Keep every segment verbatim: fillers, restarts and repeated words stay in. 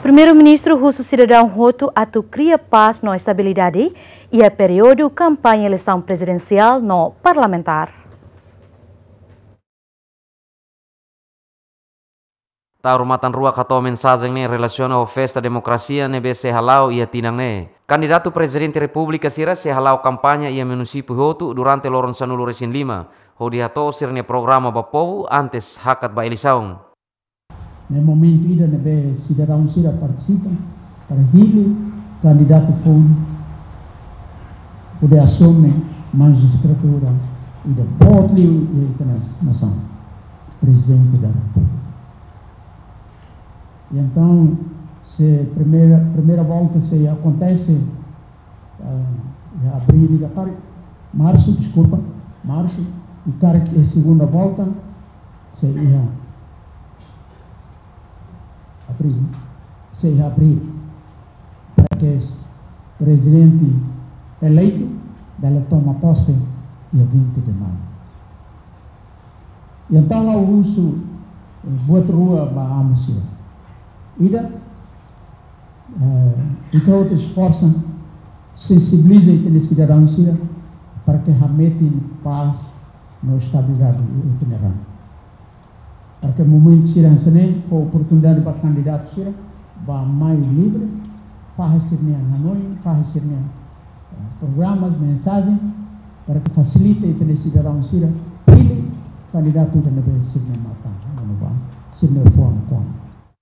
Primeiru-Ministru husu sidadaun hotu atu kria pás no estabilidade iha períodu kampaña eleisaun prezidensiál no parlamentár. Taur Matan Ruak hato'o mensajen ne'e relasiona ho festa demokrasia ne'ebé sei hala'o iha tinan ne'e. Kandidatu Prezidente Repúblika sira sei hala'o kampaña iha munisípiu hotu durante loron sanulu-resin-lima, hodi hato'o sira-nia programa ba povu antes hakat ba eleisaun. Ne'e momentu ida ne'ebé sidadaun sira partisipa para hili kandidatu foun hodi asume majistratura ida boot liu iha ita-nia nasaun, Prezidente da Repúblika. I entaun, se primeira, primeira volta sei akontese, ah, iha abríl ida karik, marsu, deskulpa, marsu, i karik iha segunda volta sei iha abríl, sei iha abríl, para ke prezidente eleitu bele toma pose iha vinte de maiu. I entaun ha'u husu, eh, buat rua ba amu sira. Ida, eh, ita hotu esforsa, sensibiliza ita-nia sidadaun sira para ke hametin pás no estabilidade iha ita-nia rain. Para ke momentu sira hanesan ne'e fó oportunidade ba kandidatu sira ba mai livre, fahe sira-nia hanoin, fahe sira-nia, eh, programas, mensajen, para ke fasilita ita-nia sidadaun sira hili kandidatu ida ne'ebé sira-nia matan hanoin ba, sira-nia fuan kona.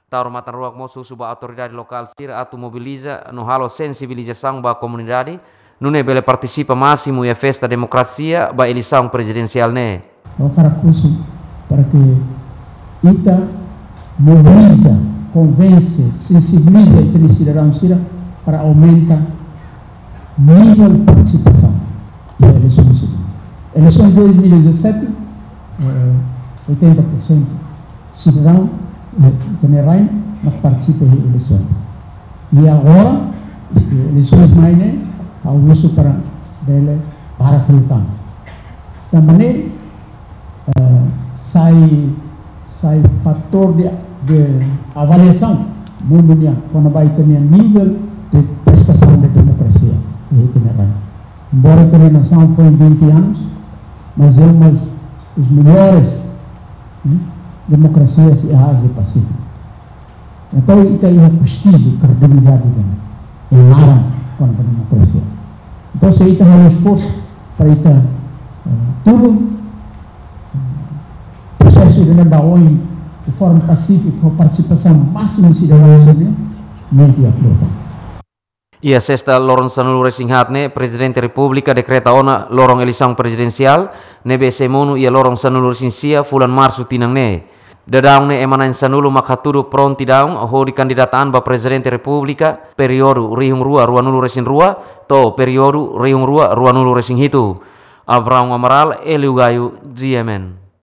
Taur Matan Ruak mós husu ba autoridade lokál sira atu mobiliza no halo sensibilizasaun ba komunidade, nune'e bele partisipa másimu iha festa demokrasia ba eleisaun prezidensiál ne'e. Ha'u hakarak husu para ke ita mobiliza, konvense, sensibiliza ita-nia sidadaun sira para aumenta nivel partisipasaun iha eleisaun sira. Eleisaun dois mil e dezassete, eh, oitenta por cento sidadaun, eh, ita-nia rain mak partisipa iha eleisaun. I agora, eh, eleisaun mai ne'e, ha'u husu para bele para tutan. Tanba ne'e, eh, sai, sai fatór de, de avaliasaun mundu nian, kona-ba ita-nia nivel de prestasaun de demokrasia iha ita-nia rain. Embora ita-nia nasaun foin vinte anos, mas é uma das melhores, né, democracias iha Ázia Pasífiku. Entaun, ita iha prestíjiu, kredibilidade ida-ne'e, iha laran kona-ba demokrasia. Entaun, se ita halo esforsu para ita, eh, tulun, eh, prosesu ida-ne'e ba oin de forma pasífika, ho partisipasaun másimu sidadaun sira-nian, ne'e di'ak liután. Iha sesta loron sanulu-resin-haat ne'e, Prezidente Repúblika dekreta ona loron eleisaun prezidensiál, ne'ebé sei monu iha loron sanulu-resin-sia fulan Marsu tinan ne'e. Daudaun ne'e ema na'in sanulu mak hatudu prontidaun hodi kandidata an ba Prezidente Repúblika períodu rihun rua ruanulu-resin-rua to'o períodu rihun rua ruanulu-resin-hitu. Abraão Amaral, Hélio Gaio, G M N.